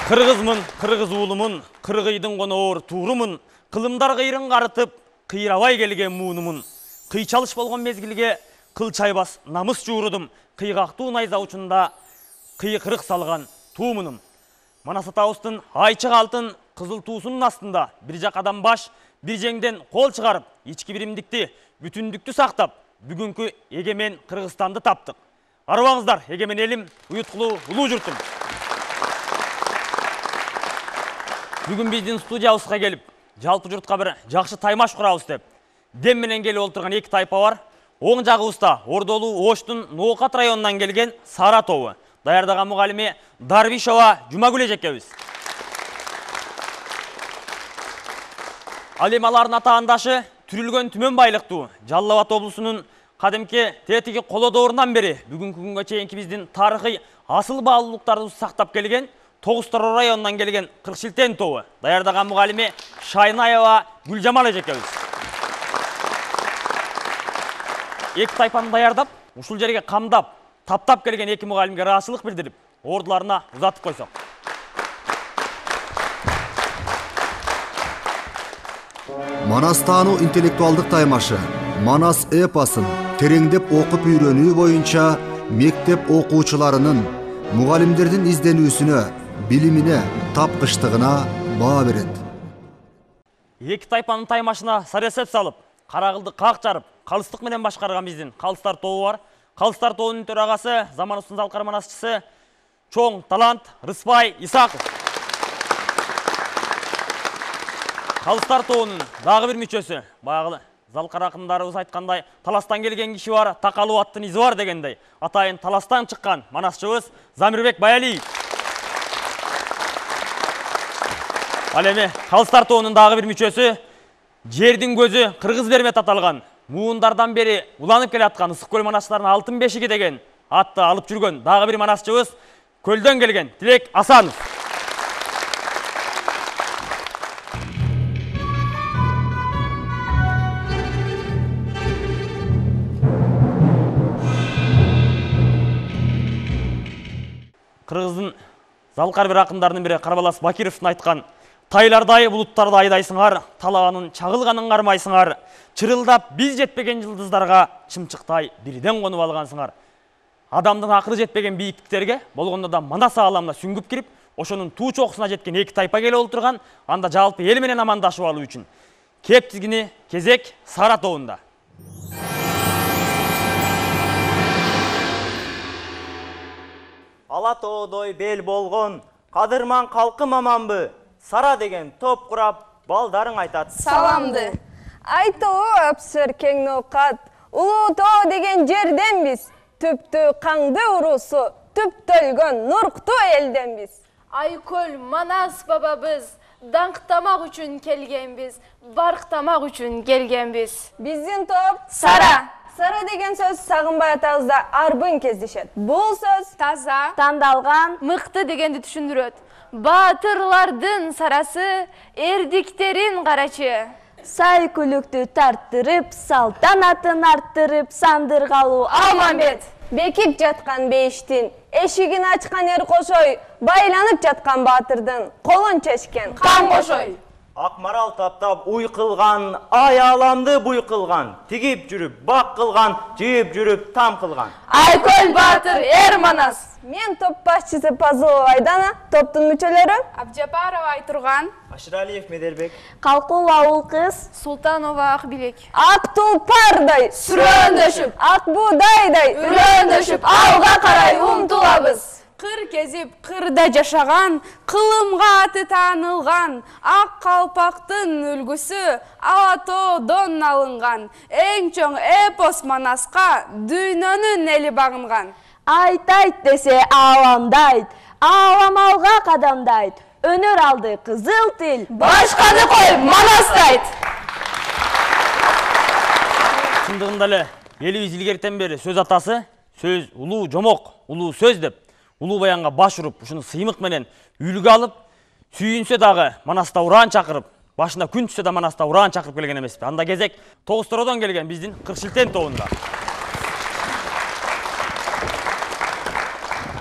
Кыргызмын, кыргыз уулумун, кыргыйдын коноор туурумун, кылымдар кыйрын карытып, кыйрабай келген муунумун. Кыйчалыш болгон мезгилге кыл чайбас намыс жуурудум, кыйгактуу найза учунда кыйкырык салган туумунум. Манас атабыздын айчык алтын кызыл туусунун астында бир жак адам баш, бир жеңден кол чыгарып, ички биримдикти, бүтүндүктү сактап, бүгүнкү эгемен Кыргызстанды таптык. Арыбаңыздар, эгемен элим, уюткулуу улуу журтум. Бүгүн биздин студиябызга келип, жалпы журтка бир жакшы таймаш курабыз деп, дем менен келип олтурган эки тайпа бар. Оң жагыбызда Ордолуу Оштун Ноокат районунан келген Сара тобу. Даярдаган мугалими Дарвишова Жумагүл эжекебиз. Ал эми алардын атаандашы Түрүлгөн Түмөн байлыктуу Жалал Абад облусунун кадимки тетиги коло доорунан бери бүгүнкү күнгө чейинки биздин тарыхый асыл баалуулуктарды сактап келген Тогуз Тороо районунан келген Кыркшилтен тобу. Даярдаган мугалими Шайнаева Гүлжамал эжекебиз. Эки тайпаны даярдап, ушул жерге камдап, таптап келген эки мугалимге ыраазычылык билдирип, ордуларына узатып койсок. Манастануу интеллектуалдык таймашы Манас эпосын тереңдеп окуп үйрөнүү боюнча мектеп окуучуларынын, мугалимдердин изденүүсүнө, билимине, тапкычтыгына баа берет. Эки тайпанын таймашына саресеп салып, карагылды как жарып, калыстык менен башкарган биздин Калыстар тобу бар. Калыстар тобунун төрагасы, заманыбыздын залкар манасчысы чоң талант Рыспай Исаков. Калыстар тобунун дагы бир мүчөсү, баягы залкар акындарыбыз айткандай, таластан келген киши бар, такалуу аттын изи бар дегендей, атайын таластан чыккан манасчыбыз Замирбек Баялиев. Ал эми Калыстар тобунун дагы бир мүчөсү, жердин көзү Кыргыз Бермет аталган, муундардан бери уланып келаткан Ысык көл манастарынын алтын бешиги деген атты алып жүргөн дагы бир манасчыбыз Көлдөн келген Тилек Асанов. Кыргыздын залкар бир акындарынын бири Карбалас Бакировдун айткан: "Тайлардай булуттарды айдайсыңар, талаанын чагылганын кармайсыңар, чырылдап биз жетпеген жылдыздарга чымчыктай бирден конуп алгансыңар." Адамдын акыры жетпеген бийиктиктерге болгондо да Манас ааламына сүңгүп кирип, ошонун туу чокусуна жеткен эки тайпа келип олтурган, анда жалпы эл менен амандашып алуу үчүн кеп тизгини кезек Сара тобунда. Ала тоодой бел болгон кадырман калкым аманбы? Сара деген топ курап, балдарың айтат саламды. Айтоо апсыр кең Ноокат, Улуу Тоо деген жерденбиз. Түптүү каңды уруусу, түптөлгөн нурктуу элденбиз. Айкөл Манас бабабыз, даңктамак үчүн келгенбиз, барктамак үчүн келгенбиз. Биздин топ Сара. Сара деген сөз Сагынбай атабызда арбын кездешет. Бул сөз Таза, тандалган, мыкты дегенди түшүндүрөт. Баатырлардын сарасы, эрдиктерин карачы. Сай күлүктү тарттырып, салтанатын арттырып, сандыргалуу Алмамбет. Бекип жаткан бейиштин эшигин ачкан эр кошой, байланып жаткан баатырдын колун чечкен Кан кошой. Акмарал таптап уй кылган, аяламды буй кылган, тигип жүрүп бак кылган, жыйып жүрүп там кылган. Айкөл Баатыр эр Манас. Мен топ башчысы Пазылова Айдана, топтун мүчөлөрү Абжапарова Айтурган, Ашыралиев Меделбек, Калкулова Улкыз, Султанова Акбилек. ак тулпардай Сүрөөндөшүп, ак буудайдай үрөөөндөшүп алга карай умтулабыз. Кыр кезип кырда жашаган, кылымга аты таанылган, ак калпактын үлгүсү Ала тоодон алынган. Эң чоң эпос Манаска дүйнөнүн эли багынган. Айтайт десе ааламдайт, аалам алга кадамдайт. Өнөр алды кызыл тил, Башканы коюп Манастайт. Чындыгында эле элибиз илгертен бери сөз атасы, сөз улуу жомок, улуу сөз деп, улуу баянга баш уруп, ушуну сыймык менен үлгү алып, сүйүнсө дагы Манаста ураан чакырып, башына күн түшсө да Манаста ураан чакырып келген эмеспи. Анда кезек Тогуз Тороодон келген биздин Кыркшилтен тобунда.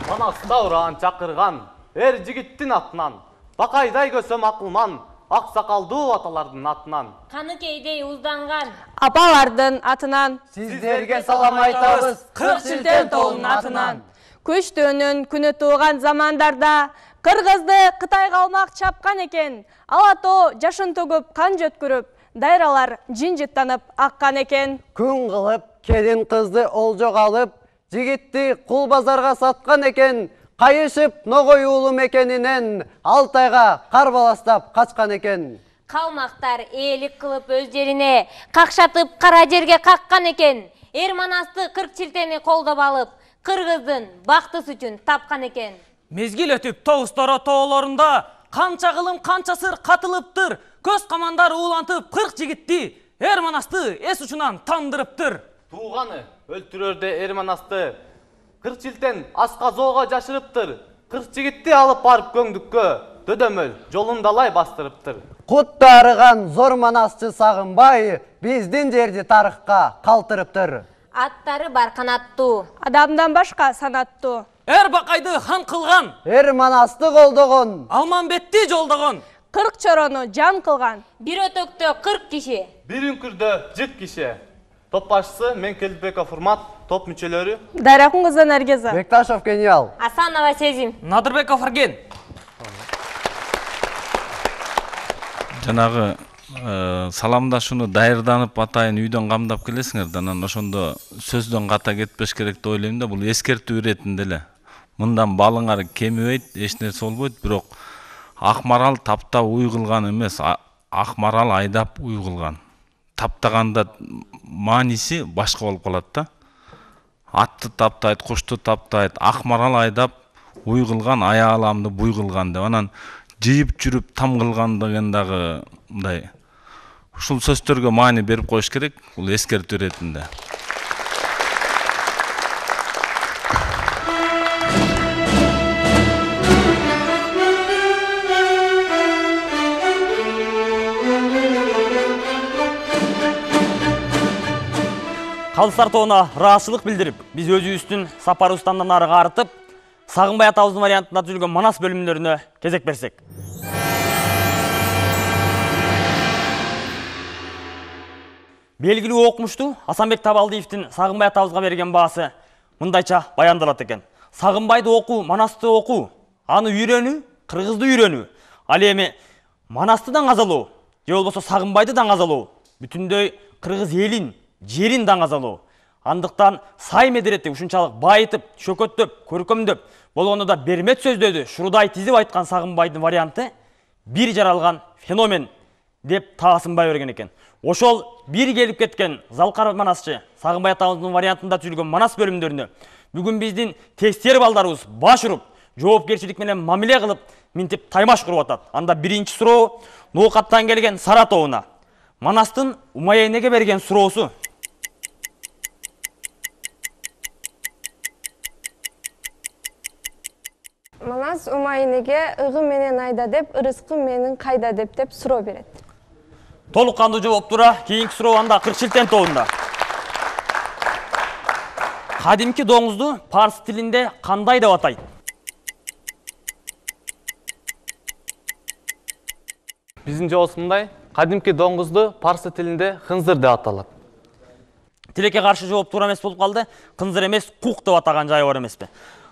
Манаста ураан чакырган, эр жигиттин атынан, бакайдай көсөм акылман, ак сакалдуу аталардын атынан. Каныкейдей узданган Апалардын атынан. Сиздерге салам айтабыз, Кырчилтен тоонун атынан. Көчтөөнүн күнү тууган замандарда Кыргызды Кытайга алмак чапкан экен. Ала тоо жашын төгүп, кан жөткүрүп, дайралар жинжиттанып аккан экен. Күн кылып, келин кызды олжого алып, жигитти кул базарга саткан экен. Кайышып ногой уулу мекенинен Алтайга кар баластап качкан экен. калмактар ээлик кылып өздерине какшатып кара жерге каккан экен. Эр Манасты Кыркчилтени колдоп алып, Кыргыздын бактысы үчүн тапкан экен. Мезгил өтүп Тогусторо тоолорунда канча кылым канча сыр катылыптыр. Көз камандар уулантып 40 жигитти Эр Манасты эс учунан тандырыптыр. Тууганы өлтүрөрдө эр Манасты Кыркчилтен асказоого жашырыптыр. 40 жигитти алып барып көңдүккө дөдөмөл жолундалай бастырыптыр. Кутта арыган зор Манасчы Сагынбай биздин жерди тарыхка калтырыптыр. Аттары бар канаттуу, Адамдан башка санаттуу. Эр Бакайды хан кылган, Эр Манасты колдогон, Алманбетти жолдогон, 40 чорону жан кылган. бир өтөктө 40 киши. Бир үңкүрдө 40 киши. Топ башчысы Менкелбеков Урмат, топ мүчөлөрү Дайракун кызы Наргиза. Бекташов Гениал, Асанова Сезим. Надырбеков Эрген. Жанагы саламдашууну дайырданып атайын үйдөн камдап келесиңер да, анан ошондо сөздөн ката кетпеш керек деп ойлойм да. Бул эскертүү иретинде эле. Мындан балыңар кемибейт, эч нерсе болбойт, бирок Акмарал таптап уй кылган эмес, Акмарал айдап уй кылган. Таптаганда мааниси башка болуп калат да. Атты таптайт, кушту таптайт, Акмарал айдап уй кылган, аяаламды буй кылган деп. Анан жыйып жүрүп там кылган деген дагы мындай. Ушул сөздөргө маани берип коюш керек, бул эскертүү иретинде. Калыстар тоона ыраазычылык билдирип, биз өзүбүздүн сапарыбыздан арыга артып, Сагынбай атабыздын вариантында түзүлгөн Манас бөлүмдөрүнө кезек берсек. Белгилүү окумуштуу Асанбек Табалдиевдин Сагынбай атабызга берген баасы мындайча баяндалат экен. Сагынбайды окуу, Манасты окуу, аны үйрөнүү, Кыргызды үйрөнүү. Ал эми Манасты даңазалоо, же болбосо Сагынбайды даңазалоо, бүтүндөй Кыргыз элин, жерин даңазалоо. Андыктан сай медеретти ушунчалык байытып, шөкөттөп, көркөмдөп, болгондо да бермет сөздөрдү шурудай тизип айткан Сагынбайдын варианты бир жаралган феномен деп таасынбай берген экен. Ошол бир келип кеткен Залкар Манасчы Сагынбай атабыздын вариантында түзүлгөн Манас бөлүмдөрүнө бүгүн биздин тестер балдарыбыз баш уруп, жоопкерчилик менен мамиле кылып, минтип таймаш куруп атат. Анда биринчи суроо Ноокаттан келген Сара тобуна. Манастын Умайенеге берген суроосу. Манас Умайенеге ыгы менен айда деп, ырыскы менин кайда деп суроо берет. Толук кандуу жооп тура, кийинки суроо анда Кыркчилтен тобунда. Кадимки доңузду парс тилинде кандай деп атайт? Биздин жообубуз мындай. Кадимки доңузду парсы тилинде хынзыр деп аталат. Тилекке каршы жооп туура эмес болуп калды. Кынзыр эмес, кук деп атаган жайы бар эмеспи?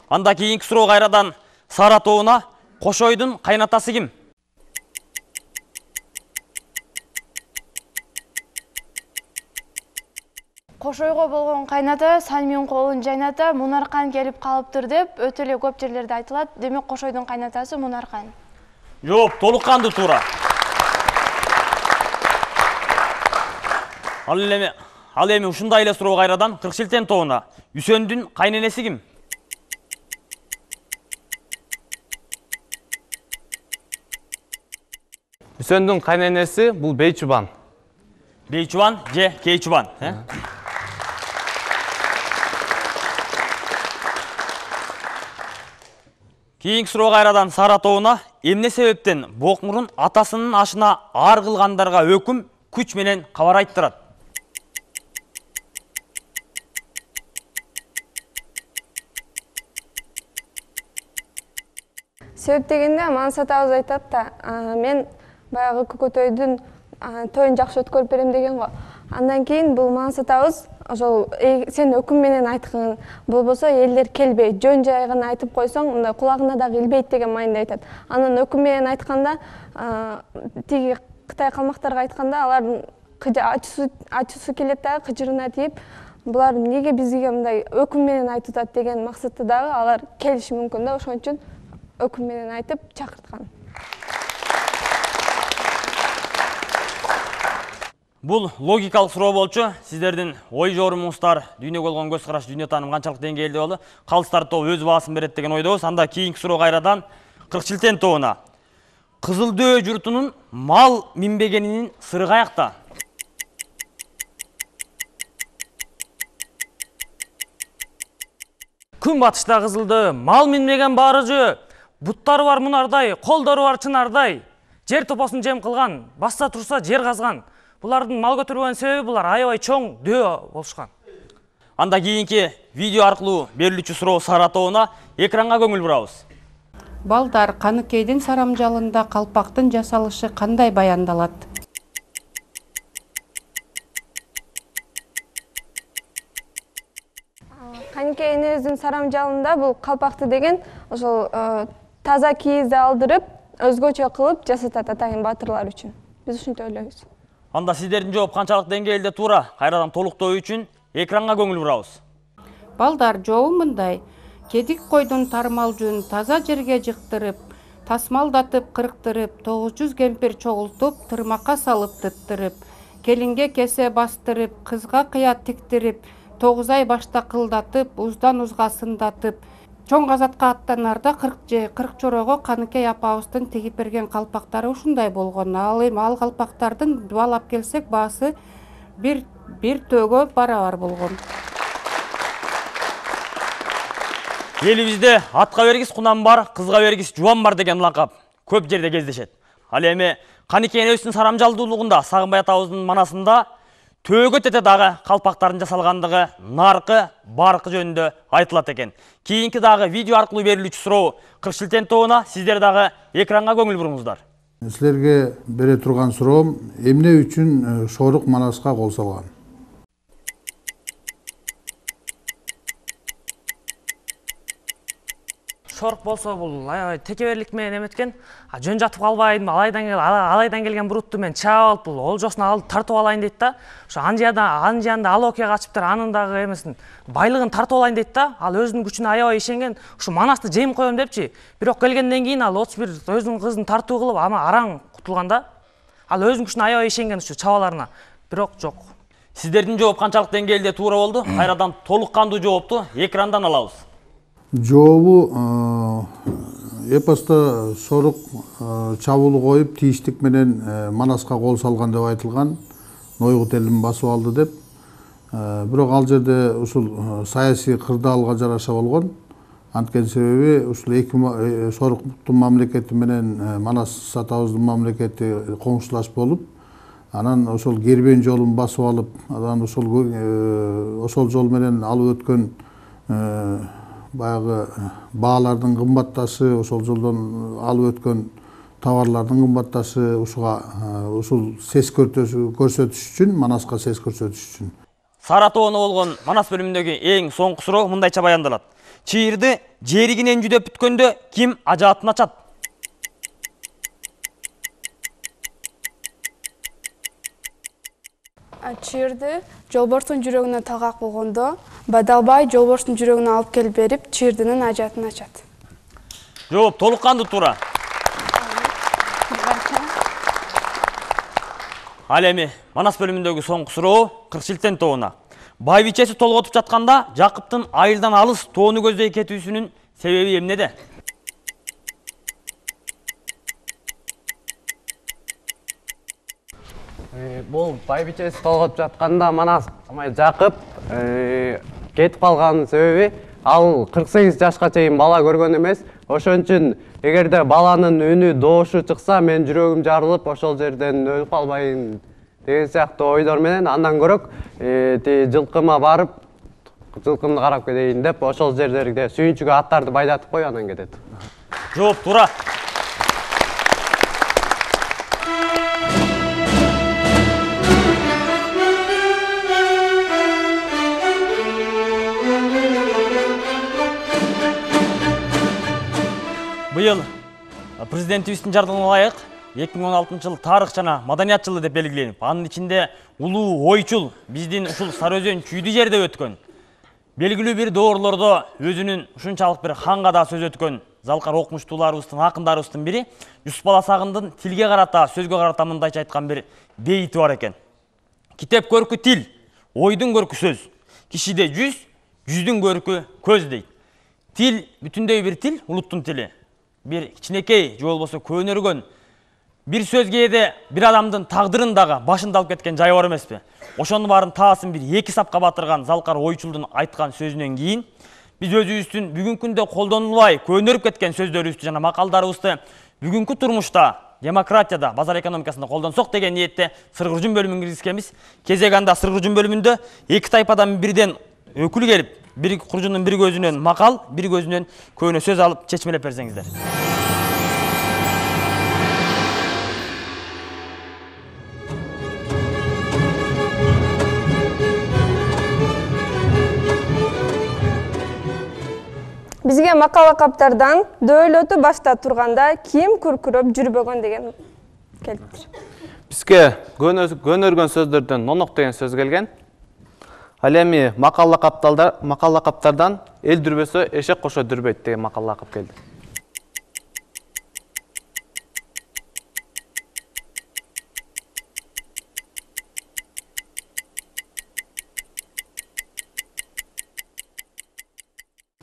Анда кийинки суроо кайрадан Сара тобуна. Кошойдун кайнатасы ким? Кошойго болгон кайната Сальмин колун жайната, Мунаркан келип калыптыр деп өтө эле көп жерлерде айтылат. Демек Кошойдун кайнатасы Мунаркан. Жооп толук кандуу туура. Ал эми ушундай эле суроо кайрадан Кыркчилтен тобуна. Үсөндүн кайненеси ким? Үсөндүн кайненеси бул Бейчубан. Бейчубан же Кейчубан, Кийинки суроо кайрадан Сара тобуна. Эмне себептен Бокмурун атасынын ашына ар кылгандарга өкүм күч менен кабар айттырат? Себеп дегенде Манас атабыз айтат да, мен баягы көкөтөйдүн тоюн жакшы өткөрүп берем деген го. Андан кийин бул Манас атабыз ошол сен өкүм менен айткын, болбосо элдер келбейт, жөн жай гана айтып койсоң, мындай кулагына дагы илбейт деген мааниде айтат. Анан өкүм менен айтканда, тиги Кытай калмактарга айтканда, алардын ачуусу келет дагы кыжырына тийип, булар эмнеге бизге мындай өкүм менен айтып атат деген максатта дагы алар келиши мүмкүн да, ошон үчүн өкүм менен айтып чакырткан. Бул логикалык суроо болчу. Сиздердин ой жорумуңуздар, дүйнөгө болгон көз караш, дүйнө тааным канчалык деңгээлде болду? Калыстар тобу өз баасын берет деген ойдобуз. Анда кийинки суроо кайрадан Кыркчилтен тобуна. Кызылдөө журтунун мал минбегенинин сыры каякта? Күн батышта Кызылдөө мал минбеген баарыжы, буттары бар мунардай, колдору бар чынардай, жер топосун жем кылган, басса турса жер казган. Булардын мал көтөрбөгөн себеби булар аябай чоң дөө болушкан. Анда кийинки видео аркылуу берилүүчү суроо Сара тобуна, экранга көңүл бурабыз. Балдар, Каныкейдин сарамжалында калпактын жасалышы кандай баяндалат? Каныкей энебиздин сарамжалында бул калпакты деген ошол таза кийизди алдырып, өзгөчө кылып жасатат атайын баатырлар үчүн. Биз ушинтип ойлойбуз. Анда сиздердин жооп канчалык деңгээлде туура, кайрадан толуктоо үчүн экранга көңүл бурабыз. Балдар, жообу мындай: кедик койдун тармалжын таза жерге жыктырып, тасмалдатып кырктырып, 900 кемпир чогултуп, тырмакка салып тыттырып, келинге кесе бастырып, кызга кыят тиктирип, 9 ай башта кылдатып, уздан узга сындатып, чоң казатка аттанарда 40 чорого Каныкей апабыздын тигип берген калпактары ушундай болгон. Ал калпактардын баалап келсек баасы бир төөгө барабар болгон. Элибизде атка бергис кунам бар, кызга бергис жубан бар деген лакап көп жерде кездешет. Ал эми Каныкей энебиздин сарамжалдуулугунда Сагынбай атабыздын манасында төөгө тете дагы калпактардын жасалгандыгы, наркы, баркы жөнүндө айтылат экен. Кийинки дагы видео аркылуу берилүүчү суроо Кыркчилтен тобуна, сиздер дагы экранга көңүл буруңуздар. Силерге бере турган суроом, эмне үчүн Шорук Манаска кол салган? Шорук болсо бул аябай текеберлик менен эметкен. Жөн жатып калбайм, алайдан келген бурутту мен чаап алып, бул олжосун алып тартып алайын дейт да. Ошо анжанда ал окуя качыптыр, анын дагы эмесин байлыгын тартып алайын дейт да. Ал өзүнүн күчүнө аябай ишенген. Ушу Манасты жейм коем депчи. Бирок келгенден кийин ал 31 өзүнүн кызын тартуу кылып, ама араң кутулган да. Ал өзүнүн күчүнө аябай ишенген ушу чабаларына. Бирок жок. Сиздердин жооп канчалык деңгээлде туура болду? Кайрадан толук кандуу жоопту экрандан алабыз. Жообу эпоста Шорук чабуул коюп, тийиштик менен Манаска кол салган деп айтылган, Нойгут элин басып алды деп. Бирок ал жерде ушул саясий кырдаалга жараша болгон. Анткени себеби ушул эки Шоруктун мамлекети менен Манас атабыздын мамлекети коңшулаш болуп, анан ошол кербен жолун басып алып, анан ошол жол менен алып өткөн баягы баалардын кымбатташы, ошол жолдон алып өткөн товарлардын кымбатташы ушул сес көрсөтүш үчүн, Манаска сес көрсөтүш үчүн. Сара тобуна болгон Манас бөлүмүндөгү эң соңку суроо мындайча баяндалат. Чыйырды жеригинен жүдөп бүткөндө ким ажаатын ачат? Чыйырды жолборстун жүрөгүнө тагак болгондо Бадалбай жолборстун жүрөгүнө алып келип берип, чыйырдынын ажатын ачат. Жооп толук кандуу туура. Ал эми Манас бөлүмүндөгү соңку суроо Кыркчилтен тобуна. Байбичеси толготуп жатканда Жакыптын айылдан алыс тоону көздөй кетүүсүнүн себеби эмнеде? Бул байбичеси толготуп жатканда Манас Жакып кетип калганын себеби ал 48 жашка чейин бала көргөн эмес. Ошон үчүн эгерде баланын үнү доошу чыкса, мен жүрөгүм жарылып, ошол жерден өлүп калбайын деген сыяктуу ойдор менен андан көрөк жылкыма барып, жылкымды карап кетейин деп ошол жерлерге сүйүнчүгө аттарды байдатып коюп анан кетет. Жооп туура. Быйыл президентибиздин жардамына ылайык 2016 жыл тарых жана маданият жылы деп белгиленип, анын ичинде улуу ойчул биздин ушул Сары Өзөн чүйдү жерде өткөн, белгилүү бир доорлордо өзүнүн ушунчалык бир ханга да сөз өткөн залкар окумуштууларыбыздын, акындарыбыздын бири Юсуп Баласагындын тилге карата, сөзгө карата мындайча айткан бир бейити бар экен. Китеп көркү тил, ойдун көркү сөз. Кишиде жүз, жүздүн көркү көз дейт. Тил бүтүндөй бир тил, улуттун тили. Бир кичинекей, же болбосо көнөргөн бир сөз кээде бир адамдын тагдырын дагы башында алып кеткен жайы бар эмеспи? Ошонун баарын таасын бир эки сапка батырган залкар ойчулдун айткан сөзүнөн кийин биз өзүбүздүн бүгүнкү күндө колдонулбай көнөрүп кеткен сөздөрүбүздү жана макалдарыбызды бүгүнкү турмушта, демократияда, базар экономикасында колдонсок деген ниетте Сыргыржун бөлүмүн киргизкенбиз. Кезек анда Сыргыржун бөлүмүндө эки тайпадан бирден өкүл келип, бир куржундун бир көзүнөн макал, бир көзүнөн көөнө сөз алып чечмелеп берсеңиздер. Бизге макала каптардан дөөлөтү башта турганда ким күркүрөп жүрбөгөн деген келиптир. Бизге көнөргөн сөздөрдөн нонок деген сөз келген. Ал эми макала каптардан эл дүрбөсө эшек кошо дүрбөйт деген макала кап келди.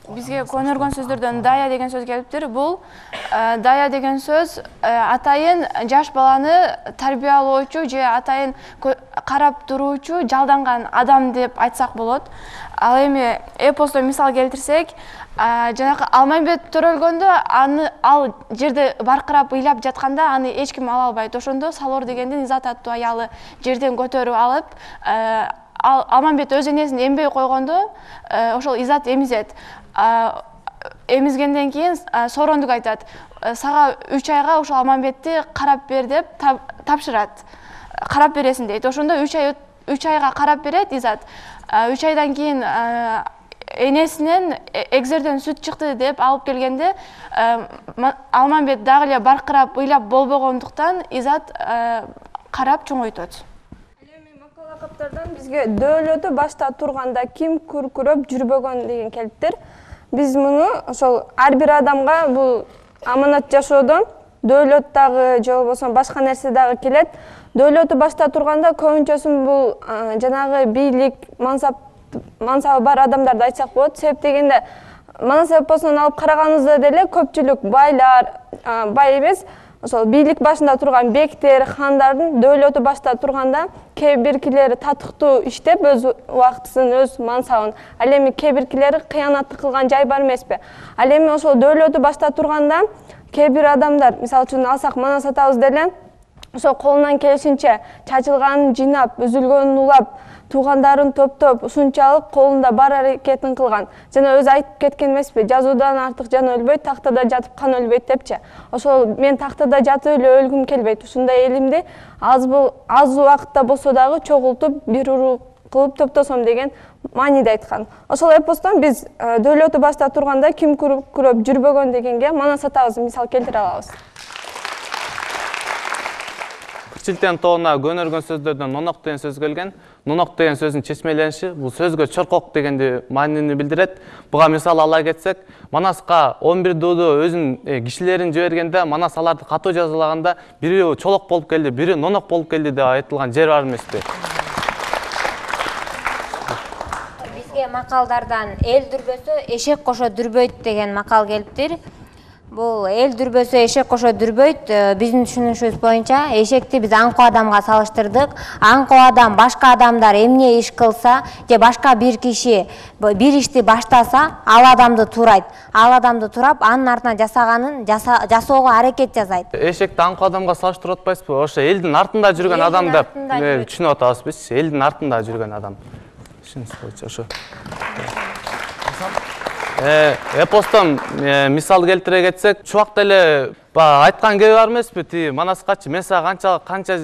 Бизге көнөргөн сөздөрдөн дая деген сөз келиптир. Бул дая деген сөз атайын жаш баланы тарбиялоочу же атайын карап туруучу жалданган адам деп айтсак болот. Ал эми эпостон мисал келтирсек, жанакы Алмамбет төрөлгөндө ал жерде баркырап ыйлап жатканда аны эч ким ала албайт. Ошондо Салор дегендин Изат аттуу аялы жерден көтөрүп алып, Алмамбет өз энесин эмбей койгондо ошол Изат эмизет. Эмизгенден кийин Соорондук айтат: "Сага 3 айга ошол Алмамбетти карап бер" деп тапшырат. Карап бересиң дейт. Ошондо 3 айга карап берет Изат. 3 айдан кийин энесинен эгзерден сүт чыкты деп алып келгенде Алмамбет дагы эле баркырап ыйлап болбогондуктан Изат карап чоңойтот. Каптардан бизге дөөлөтү башта турганда ким күркүрөп жүрбөгөн деген келиптир. Биз муну ошол ар бир адамга бул аманат жашоодон дөөлөт дагы же болбосо башка нерсе дагы келет. Дөөлөтү башта турганда көбүнчөсүн бул жанагы бийлик, мансабы бар адамдарды айтсак болот. Себеп дегенде Манас эпосунан алып караганыбызда деле көпчүлүк байлар, бай эмес, ошол бийлик башында турган бектер, хандардын дөөлөтү башта турганда кээ биркилери татыктуу иштеп өз убактысын, өз мансабын, ал эми кээ биркилери кыянатты кылган жай бар эмеспи? Ал эми ошол дөөлөтү башта турганда кээ бир адамдар, мисалы үчүн алсак Манас атабыз деле ошол колунан келишинче чачылганын жыйнап, үзүлгөнүн улап, туугандарын топтоп, ушунчалык колунда бар аракетин кылган. Жана өзү айтып кеткен эмеспи? Жазуудан артык жан өлбөйт, тактада жатып кан өлбөйт депчи. Ошол мен тактада жатып эле өлгүм келбейт. Ушундай элимди аз убакытта болсо дагы чогултуп, бир уруу кылып топтосом деген мааниде айткан. Ошол эпостон биз дөөлөтү башта турганда ким күркүрөп жүрбөгөн дегенге Манас атабызды мисал келтире алабыз. Кырчилтен тоона көнөргөн сөздөрдөн нонок деген сөз келген. Нонок деген сөздүн чечмелениши бул сөзгө чоркок дегенди маанини билдирет. Буга мисал ала кетсек, Манаска 11 дууду өзүнүн кишилерин жибергенде Манас аларды катуу жазалаганда бири чолок болуп келди, бири нонок болуп келди деп айтылган жер бар эмеспи? Бизге макалдардан эл дүрбөсө эшек кошо дүрбөйт деген макал келиптир. Бул эл дүрбөсө эшек кошо дүрбөйт. Биздин түшүнүшүбүз боюнча эшекти биз аңкоо адамга салыштырдык. Аңкоо адам башка адамдар эмне иш кылса же башка бир киши бир ишти баштаса, ал адамды турайт. Ал адамды турап, анын артынан жасаганын жасоого аракет жасайт. Эшекти аңкоо адамга салыштырып атпайсызбы? Ошо элдин артында жүргөн адам деп түшүнүп атабыз биз. Элдин артында жүргөн адам. Ошо. Эпостон мисал келтире кетсек, чубакта эле айткан кеби бар эмеспи, тиги Манаскачы мен сага канча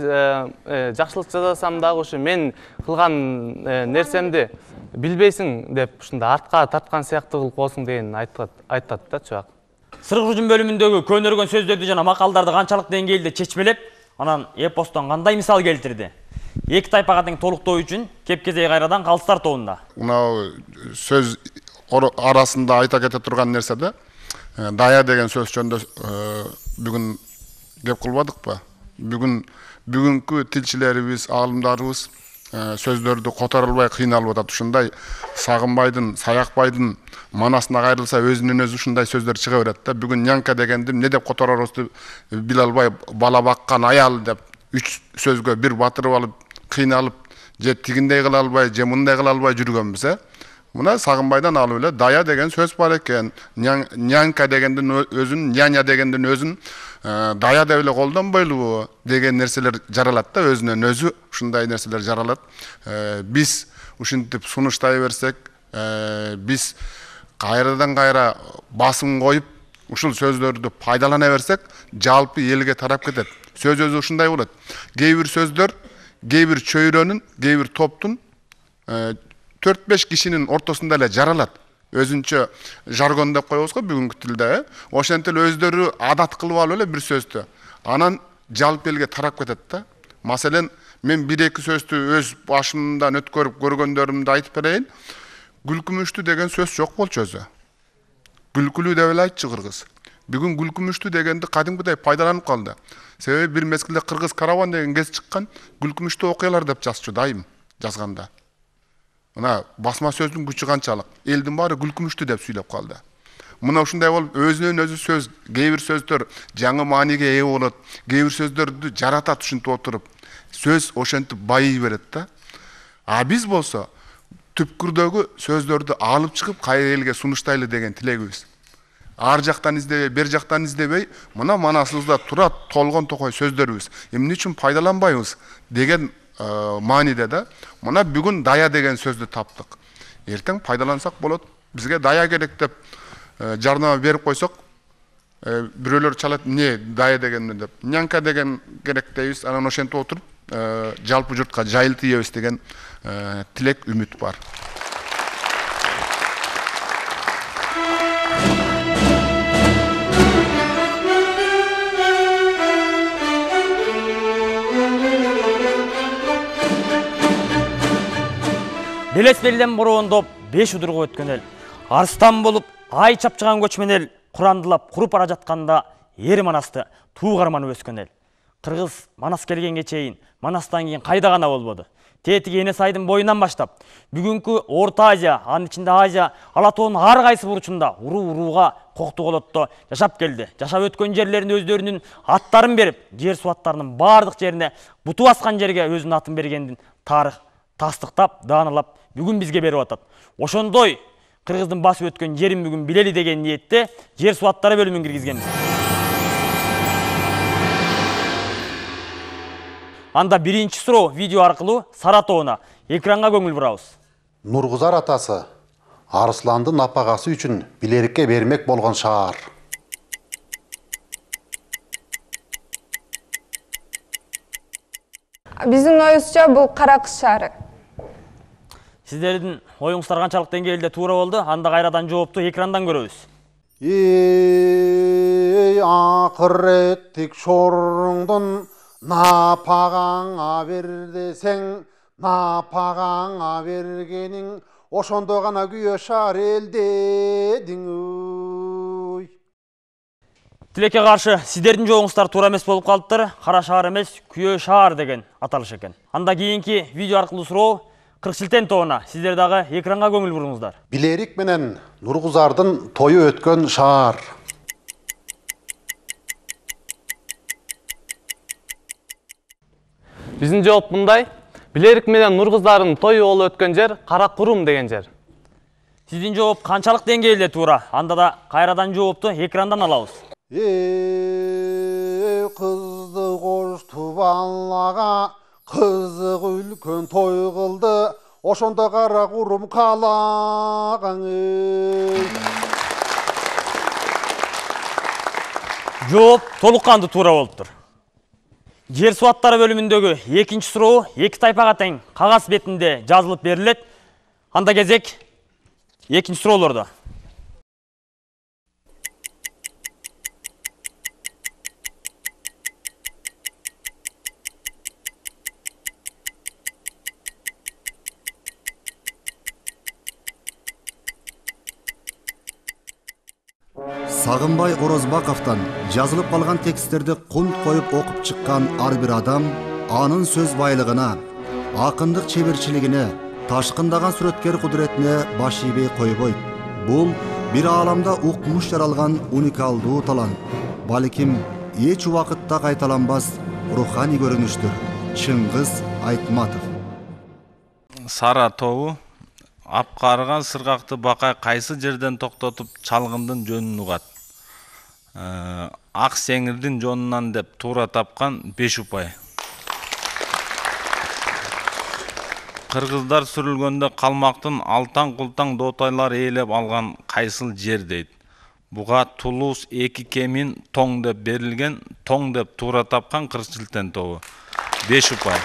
жакшылык жасасам дагы ушу мен кылган нерсемди билбейсиң деп ушундай артка тарткан сыяктуу кылып коесуң деген айтат да чубак. Сыргы жүн бөлүмүндөгү көнөргөн сөздөрдү жана макалдарды канчалык деңгээлде чечмелеп, анан эпостон кандай мисал келтирди? Эки тайпага тең толуктоо үчүн кепкезей кайрадан калыстар тобунда. Мына сөз арасында айта кете турган нерсе да, дая деген сөз жөнүндө бүгүн кеп кылбадыкпы? Бүгүнкү тилчилерибиз, аалымдарыбыз сөздөрдү которо албай кыйналып атат. Ушундай Сагынбайдын, Саякбайдын манасына кайрылса өзүнөн өзү ушундай сөздөр чыга берет да. Бүгүн нянка дегенди эмне деп которорубузду биле албай, бала баккан аял деп үч сөзгө бир батырып алып, кыйналып, же тигиндей кыла албай, же мындай кыла албай жүргөнбүз. Мына Сагынбайдан алып эле дая деген сөз бар экен. Нянка дегендин өзүн, няня дегендин өзүн дая деп эле колдонбойлубу деген нерселер жаралат да, өзүнөн өзү ушундай нерселер жаралат. Биз ушинтип сунуштай берсек, биз кайрадан кайра басым коюп, ушул сөздөрдү пайдалана берсек, жалпы элге тарап кетет. Сөз өзү ушундай болот. Кээ бир сөздөр, кээ бир чөйрөнүн, кээ бир топтун 4-5 кишинин ортосунда эле жаралат. Өзүнчө жаргон деп коебуз го бүгүнкү тилде. Ошентип өздөрү адат кылып алып эле бир сөздү. Анан жалпы элге тарап кетет да. Маселен, мен 1-2 сөздү өз башымдан өткөрүп көргөндөрүмдү айтып берейин. Гүлкүмүштү деген сөз жок болчу өзү. Гүлкүлүү деп эле айтчы кыргыз. Бүгүн гүлкүмүштү дегенди кадимгидей пайдаланып калды. Себеби бир мезгилде кыргыз караван деген кез чыккан, гүлкүмүштүү окуялар деп жазчу дайым жазганда. Мына басма сөздүн күчү канчалык. Элдин баары гүлкүмүштү деп сүйлөп калды. Мына ушундай болуп өзүнөн өзү сөз, кээ бир сөздөр жаңы мааниге ээ болот, кээ бир сөздөрдү жаратат ушинтип отуруп. Сөз ошентип байый берет да. А биз болсо түпкүрдөгү сөздөрдү алып чыгып кайра элге сунуштайлы деген тилегибиз. Ар жактан издебей, бер жактан издебей, мына манасыбызда турат толгон токой сөздөрүбүз. Эмне үчүн пайдаланбайбыз деген мааниде да. Мына бүгүн дая деген сөздү таптык. Эртең пайдалансак болот. Бизге дая керек деп жарнама берип койсок, бирөөлөр чалат, эмне дая дегенди деп. Нянка деген керек дейбиз. Анан ошентип отуруп, жалпы журтка жайылтыйбыз деген тилек, үмүт бар. Белес белден бороондоп 5 удурга өткөн эл. Арстан болуп, ай чапчыган көчмөн эл курандылап куруп бара жатканда эр манасты туу карманып өскөн эл. Кыргыз Манас келгенге чейин Манастан кийин кайда гана болбоду. Тетиги Эне сайдын боюнан баштап, бүгүнкү Орто Азия, анын ичинде Азия, Ала тоонун ар кайсы бурчунда урууга коктуголотто жашап келди. Жашап өткөн жерлерин өздөрүнүн аттарын берип, жер суу аттарынын бардык жерине буту баскан жерге өзүнүн атын бергендин тарых тастыктап, даанылап бүгүн бизге берип атат. Ошондой кыргыздын басып өткөн жерин бүгүн билели деген ниетте жер суу аттары бөлүмүн киргизгенбиз. Анда биринчи суроо видео аркылуу Саратовуна экранга көңүл бурабыз. Нургузар атасы Арысландын апагасы үчүн Билерикке бермек болгон шаар. Биздин оюбузча бул Кара Кыз шаары. Сиздердин оюңуздар канчалык деңгээлде туура болду? Анда кайрадан жоопту экрандан көрөбүз. Эй акыреттик шоруңдун напагаңа бер десең, напагаңа бергениң ошондо гана күйө шаар элдедиң. Тилекке каршы сиздердин жооңуздар туура эмес болуп калыптыр. Кара шаар эмес, күйөө шаар деген аталыш экен. Анда кийинки видео аркылуу суроо Кыркшилтен тобуна. Сиздер дагы экранга көңүл буруңуздар. Билерик менен Нургузардын тою өткөн шаар. Биздин жооп мындай. Билерик менен Нургуздардын тою болуп өткөн жер Кара Курум деген жер. Сиздин жооп канчалык деңгээлде туура? Анда да кайрадан жоопту экрандан алабыз. Кызды кошту балага, кызык үлкөн той кылды, ошондо Кара Курум калаган. Жооп толук кандуу туура болуптур. Жер суу аттары бөлүмүндөгү экинчи суроо эки тайпага тең кагаз бетинде жазылып берилет. Анда кезек экинчи суроолордо. Сагынбай Орозбаковтан жазылып калган тексттерди кунт коюп окуп чыккан ар бир адам анын сөз байлыгына, акындык чеберчилигине, ташкындаган сүрөткер кудуретине баш ийбей койбойт. Бул бир ааламда укмуш жаралган уникалдуу талант. Балким эч убакытта кайталанбас руханий көрүнүштүр. Чыңгыз Айтматов. Сара тобу апкарыган сыргакты бакай кайсы жерден токтотуп чалгындын жөнүн угат. Ак сеңирдин жонунан деп туура тапкан 5 упай. Кыргыздар сүрүлгөндө калмактын алтан култаң доотайлары ээлеп алган кайсыл жер дейт. Буга Тулуз 2 кемин тоң деп берилген, тоң деп туура тапкан Кырчилтен тобу 5 упай.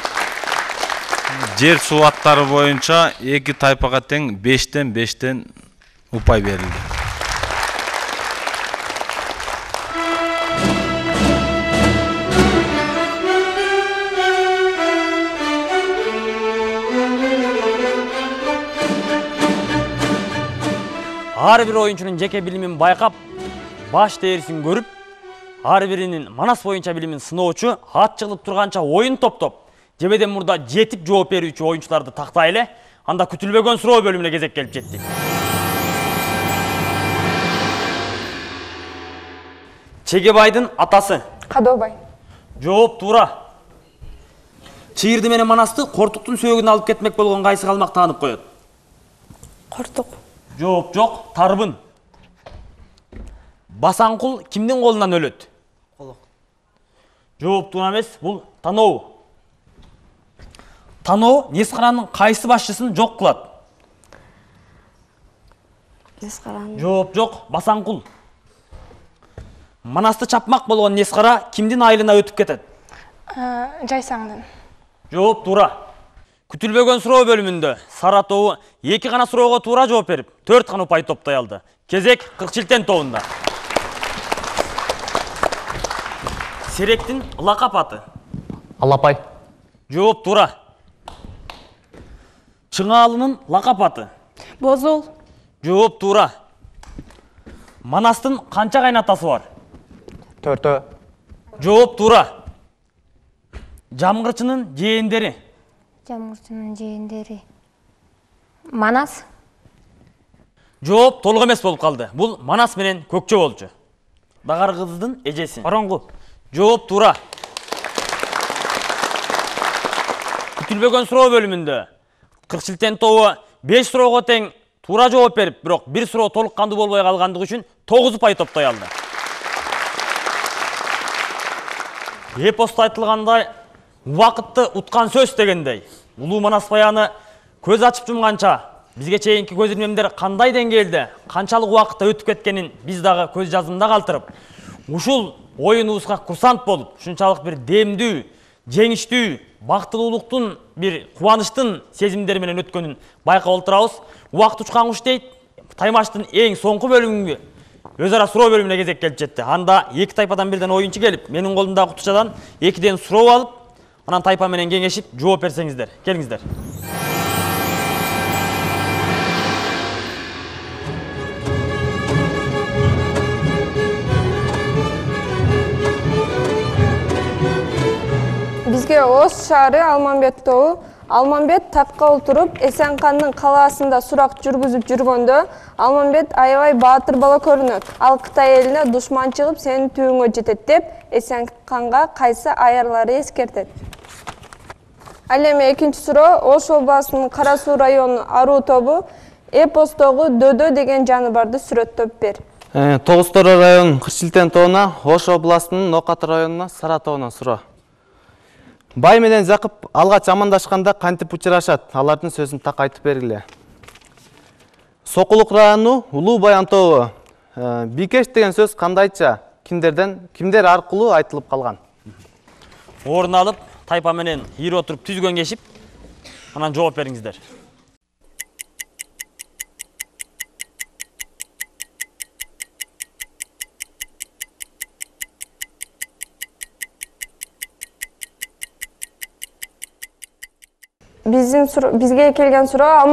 Жер суу аттары боюнча эки тайпага тең 5тен 5тен упай берилди. Ар бир оюнчунун жеке билимин байкап, баш терисин көрүп, ар биринин Манас боюнча билимин сыноочу ат чыгылып турганча оюн топтоп, жебеден мурда жетип жооп берүүчү оюнчуларды тактайлы. Анда күтүлбөгөн суроо бөлүмүнө кезек келип жетти. Чегебайдын атасы. Кадообай. Жооп туура. Чыйырды менен Манасты Кортуктун сөөгүнө алып кетмек болгон кайсы калмак таанып коет? Кортук. Жооп жок, Тарбын. Басаңкул кимдин колунан өлөт? Колок. Жооп туура эмес, бул Таноо. Таноо Нескаранын кайсы башчысын жок кылат? Нескаранын. Жооп жок, Басаңкул. Манасты чапмак болгон Нескара кимдин айылына өтүп кетет? Жайсаңдын. Жооп туура. Күтүлбөгөн суроо бөлүмүндө Сара тобу эки гана суроого туура жооп берип, 4 гана упай топтой алды. Кезек Кырчилтен тобунда. Серектин лакап аты? Алапай. Жооп туура. Чыңаалынын лакап аты? Бозул. Жооп туура. Манастын канча кайнатасы бар? 4. Жооп туура. Жамгырчынын жээндери? Жамгырчынын жээндери. Манас. Жооп толук эмес болуп калды. Бул Манас менен Көкчө болчу. Дагар кыздын эжеси. Оронгу. Жооп туура. Күтүлбөгөн суроо бөлүмүндө Кырчилтен тобу 5 суроого тең туура жооп берип, бирок бир суроо толук кандуу болбой калгандыгы үчүн 9 упай топтой алды. Эпоста айтылгандай, убакытты уткан сөз дегендей, улуу Манас баяны көз ачып жумганча бизге чейинки көз ирмемдер кандай деңгээлде, канчалык убакытта өтүп кеткенин биз дагы көз жазымда калтырып, ушул оюнубузга курсант болуп, ушунчалык бир демдүү, жеңиштүү, бактылуулуктун, бир кубанычтын сезимдери менен өткөнүн байкап отурабыз. Убакыт учкан куш дейт. Таймаштын эң соңку бөлүмүнгө өз ара суроо бөлүмүнө кезек келип жетти. Анда эки тайпадан бирден оюнчу келип, менин колумдагы кутучадан 2ден суроо алып, анан тайпа менен кеңешип жооп берсеңиздер. Келиңиздер. Бизге Ош шаары Алмамбет тобу. Алмамбет тапка отуруп, Эсенкандын калаасында сурак жүргүзүп жүргөндө, Алмамбет аябай баатыр бала көрүнөт. Ал Кытай элине душман чыгып, сенин түбүңө жетет деп, Эсенканга кайсы аярлары эскертет? Ал эми экинчи суроо, Ош областынын Кара Суу районунун Аруу тобу эпостогу Дөдө деген жаныбарды сүрөттөп бер. Тогуз-Тороо районунун Кырчилтен тобуна, Ош областынын Нокат районуна Сара тобуна суроо. Бай менен Жакып алгач амандашканда кантип учурашат? Алардын сөзүн так айтып бергиле. Сокулук району Улуу Баян тобу. Бикеш деген сөз кандайча? кимдер аркылуу айтылып калган? Орун алып, тайпа менен ийип отуруп түзгөн кешип, анан жооп бериңиздер. Бизге келген суроо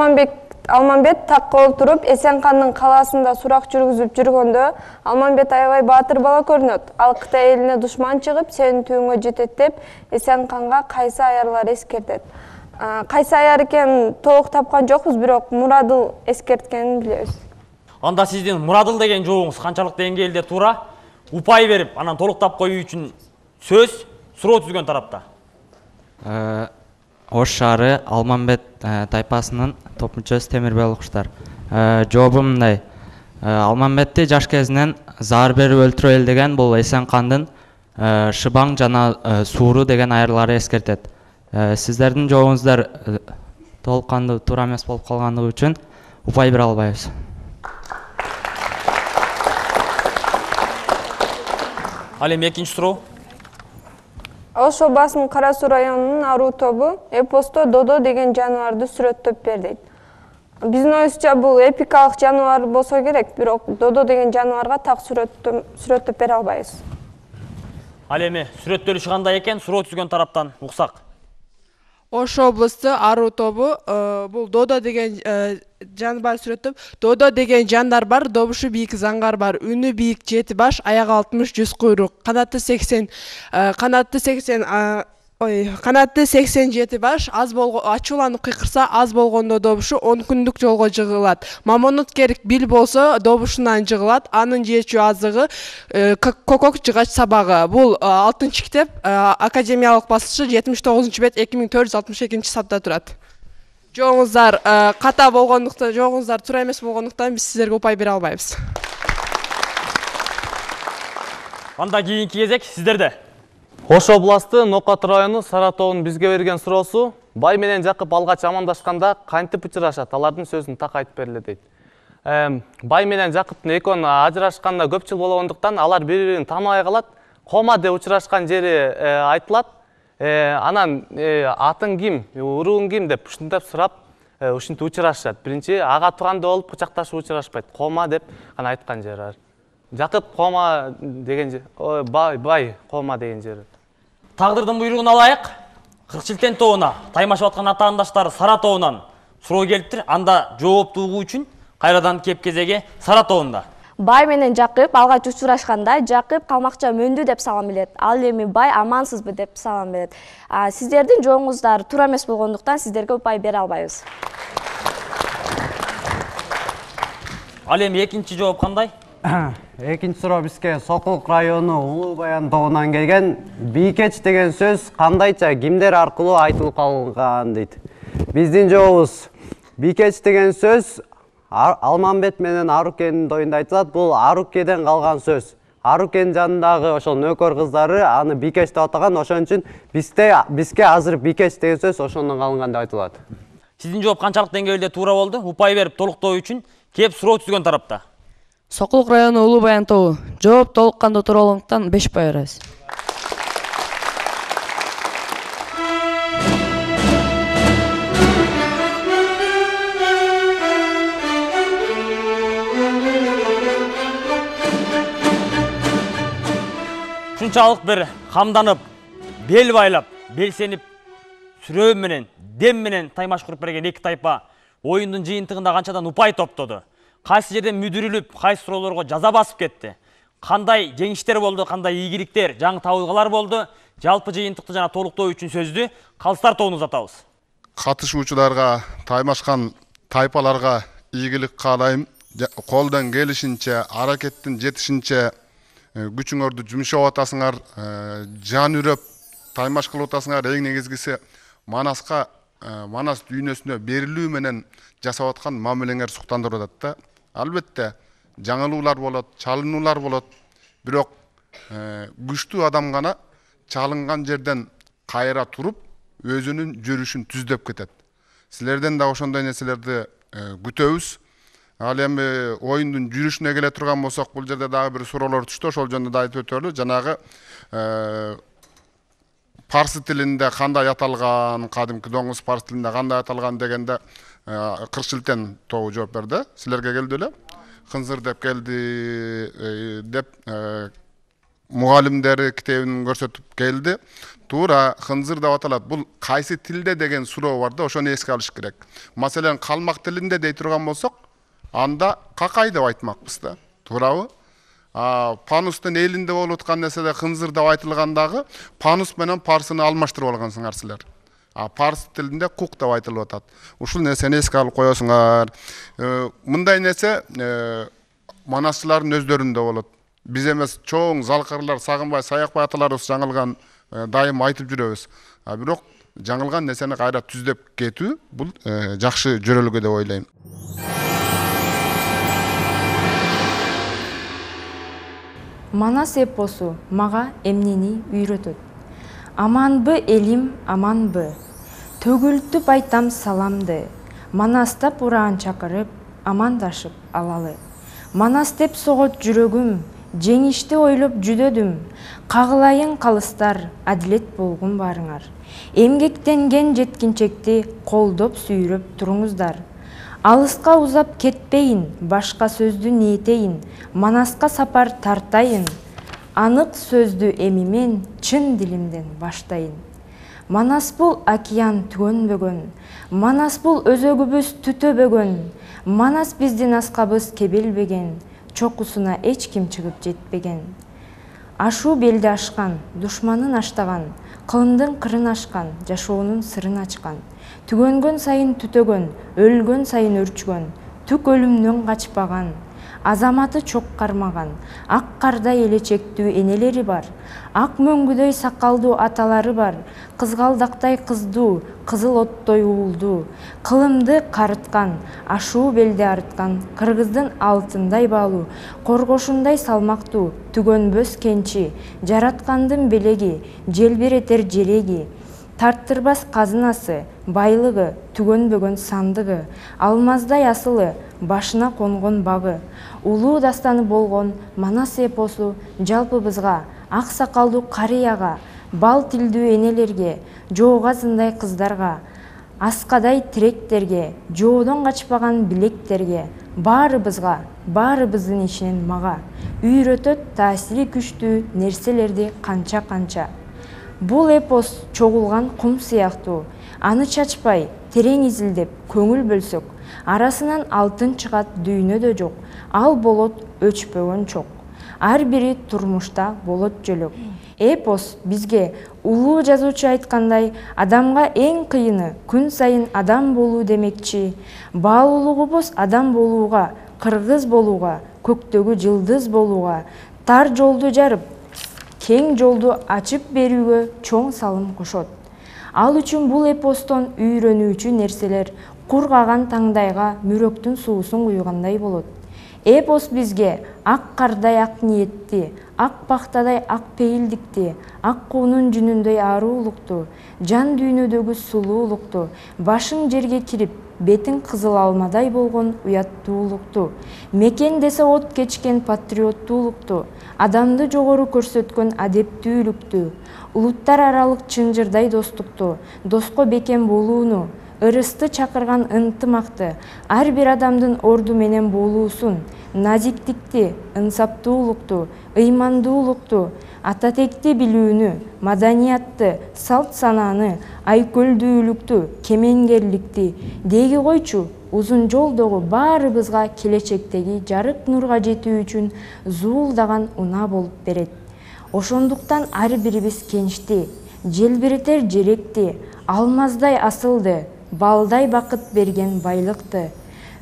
Алмамбет такка отуруп Эсенкандын калаасында сурак жүргүзүп жүргөндө Алмамбет аябай баатыр бала көрүнөт. Ал Кытай элине душман чыгып, сенин түйүңө жетет деп Эсенканга кайсы аярлар эскертет. Кайсы аяр экенин толук тапкан жокпуз, бирок Мурадыл эскерткенин билебиз. Анда сиздин Мурадыл деген жообуңуз канчалык деңгээлде туура, упай берип, анан толук тап коюу үчүн сөз суроо түзгөн тарапта. Ош шаары Алмамбет тайпасынын топ мүчөсү Темирбел Куштар. Жообум мындай. Алмамбетти жаш кезинен заар берип өлтүрө элдеген бул Эсенкандын Шыбаң жана Сууру деген аярлары эскертет. Сиздердин жообуңуздар толук кандуу туура эмес болуп калгандыгы үчүн упай бере албайбыз. Ал эми экинчи суроо. Ош областынын Кара Суу районунун аруу тобу эпосто додо деген жаныбарды сүрөттөп берди. Биздин оюбузча бул эпикалык жаныбар болсо керек, бирок додо деген жаныбарга так сүрөттөп бере албайбыз. Ал эми сүрөттөлүшү кандай экен, суроо түзгөн тараптан уксак. Ош облусу аруу тобу бул додо деген жаныбар сүрөттөп, додо деген жандар бар, добушу бийик заңгар бар, үнү бийик жети баш, аягы 60-100 куйрук, канаты 87 баш, ачууланып кыйкырса аз болгондо добушу 10 күндүк жолго жыгылат. Мамонут керик бил болсо добушунан жыгылат, анын жечүү азыгы кокок жыгач сабагы. Бул 6-чы китеп, академиялык басылышы 79-бет 2462 сапта турат. Жоңуздар ката болгондуктан, жоңуздар туура эмес болгондуктан биз сиздерге упай бере албайбыз. Анда кийинки кезек сиздерде. Ош областы Нокат району Саратовдун бизге берген суроосу: бай менен Жакып алгач амандашканда кантип учурашат? Алардын сөзүн так айтып бергиле дейт. Бай менен Жакыптын экөөнү ажырашканда көп жыл болгондуктан алар бири-бирин тааныбай калат. Кома деп учурашкан жери айтылат. Анан атың ким, урууң ким деп ушинтип сурап, ушинтип учурашат. Биринчи ага тууганда болуп кучакташып учурашпайт. Кома деп гана айткан жери бар. Жакып Кома деген жер, бай Кома деген жери. Тагдырдын буйругун алайык. Кыркчилтен тобуна таймашып аткан атаандаштары Саратовунан суроо келиптир. Анда жооп угуу үчүн кайрадан кеп кезеги Саратовунда. Бай менен Жакып алгач учурашканда Жакып калмакча мөндү деп салам берет. Ал эми бай амансызбы деп салам берет. Сиздердин жооңуздар туура эмес болгондуктан сиздерге упай бере албайбыз. Ал эми экинчи жооп кандай? Экинчи суроо бизге Сокулук району Улуу Баян тобунан келген. Бийкеч деген сөз кандайча кимдер аркылуу айтылып калган дейт. Биздин жообубуз: бийкеч деген сөз Алмамбет менен Арукенин тоюнда айтылат. Бул Арукеден калган сөз. Арукен жанындагы ошол нөкөр кыздары аны бийкеч деп атаган, ошон үчүн бизге азыр бийкеч деген сөз ошондон калынган деп айтылат. Сиздин жооп канчалык деңгээлде туура болду? Упай берип толуктоо үчүн кеп суроо түзгөн тарапта. Сокулук району Улуу Баян тобу. Жооп толук кандуу туура болгондуктан 5 упай беребиз. Ушунчалык бир камданып, бел байлап, белсенип, сүрөө менен, дем менен таймаш куруп берген эки тайпа оюндун жыйынтыгында канчадан упай топтоду. Кайсы жерден мүдүрүлүп, кайсы суроолорго жаза басып кетти. Кандай жеңиштер болду, кандай ийгиликтер, жаңы табылгалар болду. Жалпы жыйынтыкты жана толуктоо үчүн сөздү Калыстар тобуна узатабыз. Катышуучуларга, таймашкан тайпаларга ийгилик каалайм. Колдон келишинче, аракеттин жетишинче күчүңөрдү жумшап атасыңар, жан үрөп таймаш кылып атасыңар. Эң негизгиси Манас дүйнөсүнө берилүү менен жасап аткан мамилеңер суктандырып атат да. Албетте жаңылуулар болот, чалынуулар болот. Бирок күчтүү адам гана чалынган жерден кайра туруп, өзүнүн жүрүшүн түздөп кетет. Силерден да ошондой нерселерди күтөбүз. Ал эми оюндун жүрүшүнө келе турган болсок, бул жерде дагы бир суроолор түштү. Ошол жөнүндө да айтып өтөлү. Жанагы парсы тилинде кандай аталган, кадимки доңуз парсы тилинде кандай аталган дегенде Кыркчилтен тобу жооп берди. Силерге келди эле. Кынзыр деп келди деп мугалимдери китебин көрсөтүп келди. Туура кынзыр деп аталат. Бул кайсы тилде деген суроо бар да, ошону эске алыш керек. Маселен, калмак тилинде дей турган болсок, анда какай деп айтмакпыз да. Туурабы? Панустун элинде болуп аткан нерседе кынзыр деп айтылгандагы панус менен парсыны алмаштырып алгансыңар силер. Парс тилинде кук деп айтылып атат. Ушул нерсени эске алып коесуңар. Мындай нерсе манасчылардын өздөрүндө болот. Биз эмес, чоң Залкырлар, Сагынбай, Саякбай аталарыбыз жаңылган дайым айтып жүрөбүз. Бирок жаңылган нерсени кайра түздөп кетүү бул жакшы жөрөлгө деп ойлойм. Манас эпосу мага эмнени үйрөтөт? Аманбы элим, аманбы? Төгүлтүп айтам саламды. Манастап ураан чакырып, амандашып алалы. Манас деп согот жүрөгүм, жеңишти ойлоп жүдөдүм. Кагылайын калыстар, адилет болгун барыңар. Эмгектенген жеткинчекти колдоп сүйрөп туруңуздар. Алыска узап кетпейин, башка сөздү ниетейин, Манаска сапар тартайын. Анык сөздү эми мен чын дилимден баштайын. Манас бул океан түгөнбөгөн, Манас бул өзөгүбүз түтөбөгөн, Манас биздин аскабыз кебелбеген, чокусуна эч ким чыгып жетпеген. Ашуу белди ашкан, душманын аштаган, кылымдын кырын ашкан, жашоонун сырын ачкан. Түгөнгөн сайын түтөгөн, өлгөн сайын өрчүгөн, түк өлүмдөн качпаган. Азаматы чок кармаган, ак кардай элечектүү энелери бар. Ак мөңгүдөй сакалдуу аталары бар. Кызгалдактай кыздуу, кызыл оттой уулдуу. Кылымды карыткан, ашуу белди арыткан, кыргыздын алтындай баалуу, коргошундай салмактуу, түгөнбөс кенчи, жараткандын белеги, желбиретер желеги. Тарттырбас казынасы, байлыгы, түгөнбөгөн сандыгы, алмаздай асылы, башына конгон багы. Улуу дастаны болгон Манас эпосу жалпыбызга, ак сакалдуу карыяга, бал тилдүү энелерге, жоогазындай кыздарга, аскадай тиректерге, жоодон качпаган билектерге, баарыбызга, баарыбыздын ичинен мага үйрөтөт таасири күчтүү нерселерди канча-канча. Бул эпос чогулган кум сыяктуу, аны чачпай, терең изилдеп, көңүл бөлсөк, арасынан алтын чыгат дүйнөдө жок, ал болот өчпөгөн чок. Ар бири турмушта болот жөлөк. Эпос бизге улуу жазуучу айткандай, адамга эң кыйыны күн сайын адам болуу демекчи. Баалуулугубуз адам болууга, кыргыз болууга, көктөгү жылдыз болууга, тар жолду жарып, кең жолду ачып берүүгө чоң салым кошот. Ал үчүн бул эпостон үйрөнүүчү нерселер кургаган таңдайга мүрөктүн суусун куйгандай болот. Эпос бизге ак кардай ак ниетти, ак пактадай ак пейилдикти, ак куунун жүнүндөй ааруулукту, жан дүйнөдөгү сулуулукту, башың жерге кирип, бетиң кызыл алмадай болгон уяттуулукту, мекен десе от кечкен патриоттуулукту, адамды жогору көрсөткөн адептүүлүктү, улуттар аралык чынжырдай достукту, доско бекем болууну, ырысты чакырган ынтымакты, ар бир адамдын орду менен болуусун, назиктикти, ынсаптуулукту, ыймандуулукту, ататекти билүүнү, маданиятты, салт санааны, айкөлдүүлүктү, кемеңгерликти, деги койчу, узун жолдогу баарыбызга келечектеги жарык нурга жетүү үчүн зуулдаган унаа болуп берет. Ошондуктан ар бирибиз кенчти, желбиретер желекти, алмаздай асылды, балдай бакыт берген байлыкты,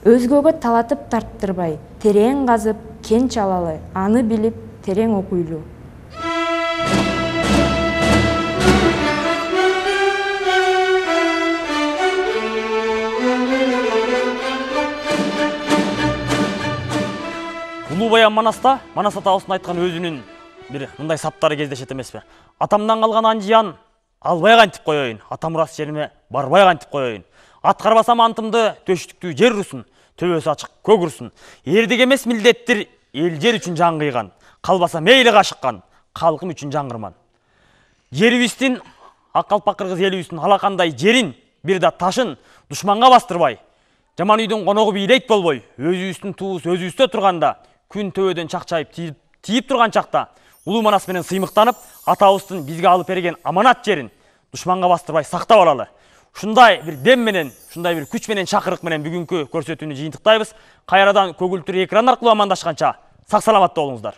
өзгөгө талатып тарттырбай, терең казып, кенч алалы, аны билип, терең окуйлу. Улуу Манаста, Манас атабыздын айткан өзүнүн бир мындай саптары кездешет эмеспи? Атамдан калган анжиян албай кантип коеюн, атам урас жериме барбай кантип коеюн. Аткарбасам антымды төштүктүү жер урусун, төбөсү ачык көгүрсүн. Эрдик эмес милдеттир, эл жер үчүн жан кыйган. Калбаса мейли кашыккан, калкым үчүн жаңгырман. Жерибиздин, ак калпак кыргыз элибиздин алакандай жерин, бир да ташын душманга бастырбай, жаман үйдүн коногу бийлейт болбой, өзүбүздүн туубуз өзүбүздө турганда, күн төбөдөн чакчайып тийип турган чакта, улуу манас менен сыймыктанып, атабыздын бизге алып берген аманат жерин душманга бастырбай сактап алалы. Ушундай бир дем менен, ушундай бир күч менен, чакырык менен бүгүнкү көрсөтүүнү жыйынтыктайбыз. Кайрадан көгүлтүр экран аркылуу амандашканча сак саламатта болуңуздар.